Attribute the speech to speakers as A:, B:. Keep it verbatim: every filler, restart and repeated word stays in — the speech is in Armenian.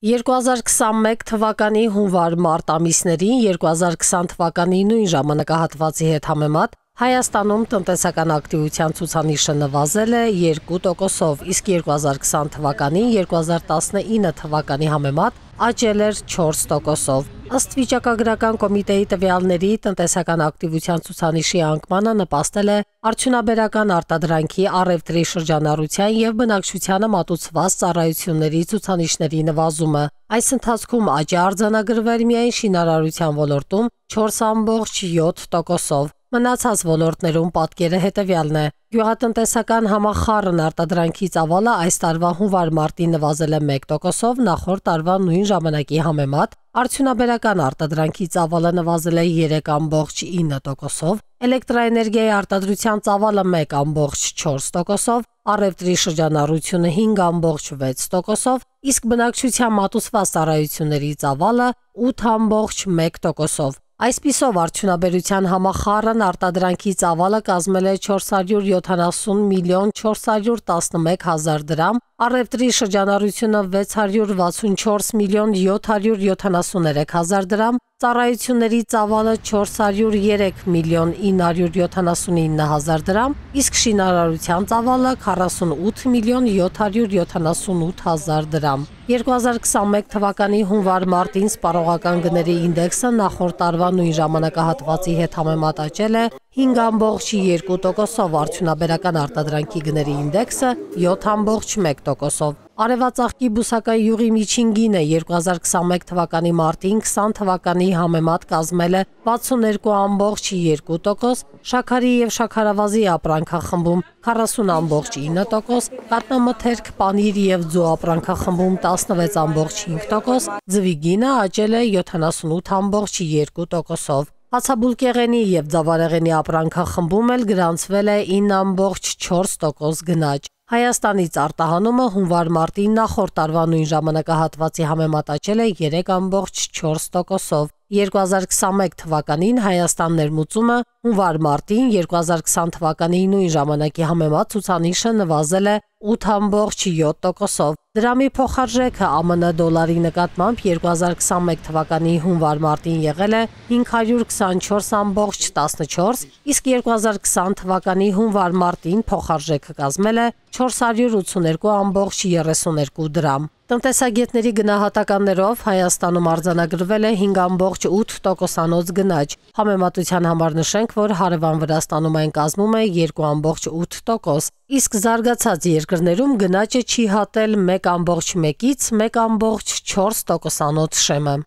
A: երկու հազար քսանմեկ թվականի հունվար-մարտ ամիսներին երկու հազար քսան թվականի նույն ժամանակահատվածի հետ համեմատ Հայաստանում տնտեսական ակտիվության ցուցանիշը նվազել է երկու տոկոսով, իսկ երկու հազար քսան թվականին երկու հազար տասնինը թվականի համեմատ աճել էր չորս տոկոսով։ Ըստ վիճակագրական կոմիտեի տվյալների տնտեսական ակտիվության ցուցանիշի անկմանը նպաստել է արդյունաբերական արտադրանքի, առևտրի շրջանառության եւ բնակչությանը մատուցված ծառայությունների ցուցանիշների նվազումը։ Այս ընթացքում աճ է արձանագրվել միայն շինարարության ոլորտում չորս կόμμα յոթ տոկոսով։ Մնացած ոլորտներում պատկերը հետևյալն է. Գյուղատնտեսական համախառն արտադրանքի ծավալը այս տարվա հունվար-մարտին նվազել է մեկ տոկոսով, նախորդ տարվա նույն ժամանակի համեմատ, արդյունաբերական արտադրանքի ծավալը նվազել է երեք կόμμα ինը տոկոսով, էլեկտրաէներգիայի արտադրության ծավալը մեկ կόμμα չորս տոկոսով, առևտրի շրջանառությունը հինգ կόμμα վեց տոկոսով, իսկ բնակչության մատուցված ծառայությունների ծավալը ութ կόμμα մեկ տոկոսով։ Այսպիսով արդյունաբերության համախառն արտադրանքի ծավալը կազմել է չորս հարյուր յոթանասուն միլիոն չորս հարյուր տասնմեկ հազար դրամ, առևտրի շրջանառությունը վեց հարյուր վաթսունչորս միլիոն յոթ հարյուր յոթանասուններեք հազար դրամ, ծառայությունների ծավալը չորս հարյուր երեք միլիոն ինը հարյուր յոթանասունինը հազար դրամ, իսկ շինարարության ծավալը քառասունութ միլիոն յոթ հարյուր յոթանասունութ հազար դրամ։ երկու հազար քսանմեկ թվականի հունվար-մարտին սպառողական գների ինդեքսը նախորդ տարվա նույն ժամանակահատվածի հետ համեմատ աճել է հինգ կόμμα երկու տոկոսով, արդյունաբերական արտադրանքի գների ինդեքսը յոթ կόμμα մեկ տոկոսով։ Արևածաղկի բուսական յուղի միջին գինը երկու հազար քսանմեկ թվականի մարտին քսան թվականի համեմատ կազմել է վաթսուններկու կόμμα երկու տոկոս, շաքարի եւ շաքարավազի ապրանքախմբում քառասուն կόμμα ինը տոկոս, կատնամթերք, պանիր եւ ձու ապրանքախմբում տասնվեց կόμма հինգ տոկոս, ձվի գինը աճել է յոթանասունութ կόμма երկու տոկոսով։ Հացաբուլկեղենի եւ ձավարեղենի ապրանքախմբում էլ գրանցվել է ինը կόμма չորս տոկոս գնաճ։ Հայաստանից արտահանումը հունվար-մարտին նախորդ տարվա նույն ժամանակահատվածի համեմատ աճել է երեք կόμма չորս տոկոսով։ երկու հազար քսանմեկ թվականին Հայաստան ներմուծումը հունվար-մարտին երկու հազար քսան թվականի նույն ժամանակի համեմատ ցուցանիշը նվազել է ութ կόμма յոթ տոկոսով։ Դրամի փոխարժեքը ԱՄՆ դոլարի նկատմամբ երկու հազար քսանմեկ թվականի հունվար-մարտին եղել է հինգ հարյուր քսանչորս կόμма տասնչորս, իսկ երկու հազար քսան թվականի հունվար-մարտին փոխարժեքը կազմել է չորս հարյուր ութսուներկու կόμма երեսուներկու դրամ։ Տնտեսագետների գնահատականներով Հայաստանում արձանագրվել է հինգ կόμма ութ տոկոսանոց գնաճ։ Համեմատության համար նշենք, որ հարևան Վրաստանում այն կազմում է երկու կόμма ութ տոկոս, իսկ զարգացած երկրներում գնաճը չի հատել մեկ կόμма մեկից մեկ կόμма չորս տոկոսանոց շեմը։